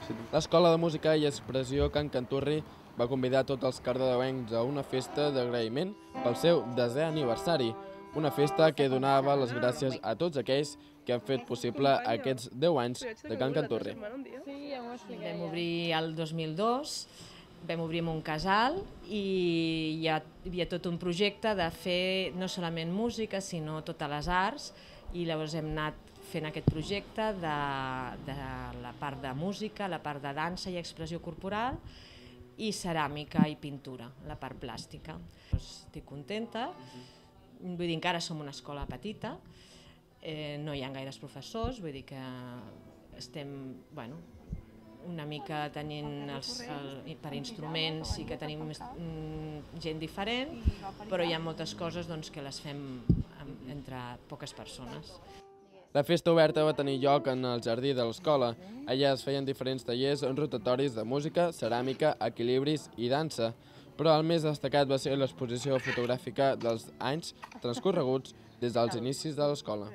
L'Escola de Música i Expressió Can Canturri va convidar tots els cardedeuencs a una festa d'agraïment pel seu 10è aniversari, una festa que donava les gràcies a tots aquells que han fet possible aquests 10 anys de Can Canturri. Vam obrir el 2002, vam obrir amb un casal i hi havia tot un projecte de fer no solament música, sinó totes les arts, i llavors hem anat fent aquest projecte de la part de música, la part de dansa i expressió corporal, i ceràmica i pintura, la part plàstica. Estic contenta, vull dir, encara som una escola petita, no hi ha gaires professors, vull dir que estem una mica tenint per instruments i que tenim gent diferent, però hi ha moltes coses que les fem entre poques persones. La festa oberta va tenir lloc en el jardí de l'escola. Allà es feien diferents tallers rotatoris de música, ceràmica, equilibris i dansa, però el més destacat va ser l'exposició fotogràfica dels anys transcorreguts des dels inicis de l'escola.